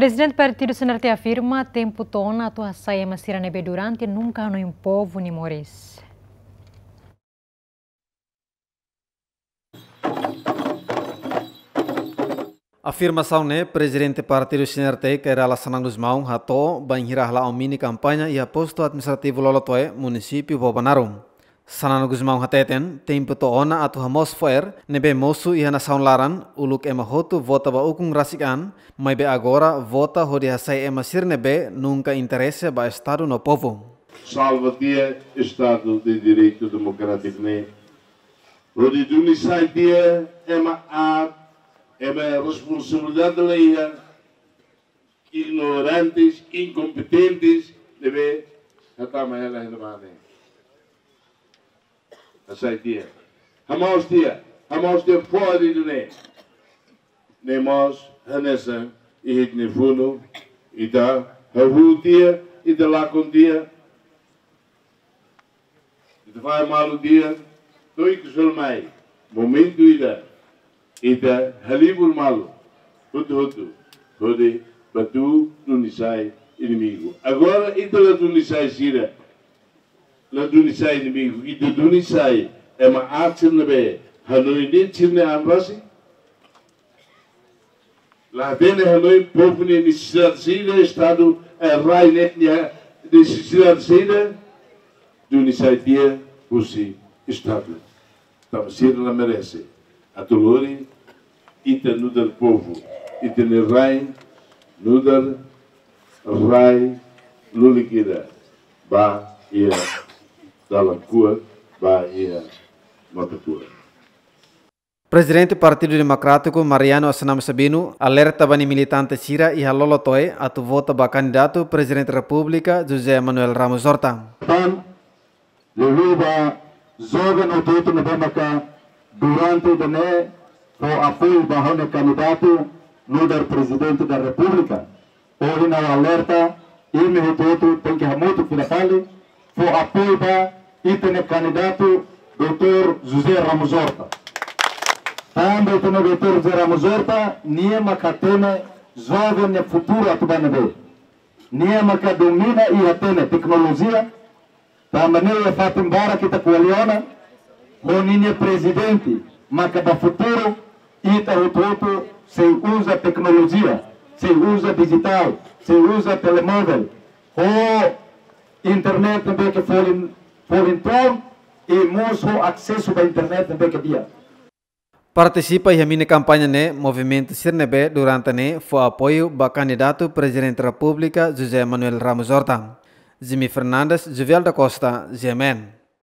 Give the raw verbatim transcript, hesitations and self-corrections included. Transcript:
Prezidente Partidu C N R T afirma tempu to'o ona atu hasai ema sira ne'ebé durante nunka hanoin povu nia moris. Afirmasaun ne'e Prezidente Partidu C N R T, Kay Rala Xanana Gusmão, hato'o bainhira hala'o mini kampaña iha postu administrativu Lolotoé, munisípiu Bobonaro. Xanana Gusmão hateten, tempu to'o ona atu hamoos fo'er ne'ebé mosu iha nasaun laran, uluk ema hotu vota ba ukun rasik an, maibé agora vota hodi hasai ema sira ne'ebé nunka interese ba Estadu no povu. Salva tiha Estadu de Direitu Demokrátiku ne'e. Hodi duni sai tiha ema aat, ema responsabilidade la iha, ignorantes, inkompetentes, ne'ebé hatama hela hela mane. Hasai tiha. Hamoos tiha. Hamoos tiha fora de ne'e. Ne'e mós hanesan iha ita-nia funu, ita hahú tiha, ita lakon tiha, ita fahe malu tiha, to'o ikus hela mai. Momentu ida, ita halibur malu, hotu-hotu, hodi bá duni sai inimigu. Agora, ita la duni sai sira, la duni sai inimigu, ita duni sai ema aat sira ne'ebé hanoin de'it sira-nia an rasik. La hatene hanoin povu nia nesesidade saida, Estadu, eh, rai ne'e nia nesesidade saida, duni sai tiha husi Estadu. Tanba sira la merese atu lori ita nu'udar povu, ita-nia rai nu'udar rai lulik ida ba iha dalan kuak, ba iha matan kuak. Prezidente Partidu Demokrátiku, Mariano Assanami Sabino, alerta ba nia militante sira iha Lolotoé atu vota ba kandidatu Prezidente Repúblika, José Manuel Ramos Horta. Tan, liuliu ba joven hotu-hotu ne'ebé maka durante ida-ne'e fó apoiu ba ha'u-nia kandidatu nu'udar Prezidente da Repúblika. Ohin ha'u alerta, imi hotu-hotu tenke hamutuk fila fali, fó apoiu ba ita-nia kandidatu doutór José Ramos Horta. Tanba ita-nia doutór José Ramos Horta, nia maka hatene joven nia futuru atu ba ne'ebé. Nia maka domina i hatene teknolojia, tanba ne'e iha fatin barak ita ko'alia ona, ho ninia prezidente, maka ba futuru, ita hotu-hotu sei uza teknolojia, sei uza dijitál, sei uza telemóvel, ho internet ne'ebé ke folin, folin toon, i mós ho asesu ba internet ne'ebé ke di'ak. Partisipa iha mini kampaña ne'e, movimentu sira ne'ebé durante ne'e fó apoiu ba kandidatu Prezidente Repúblika José Manuel Ramos Horta. Jimmy Fernandes, Juvel da Costa, G M N.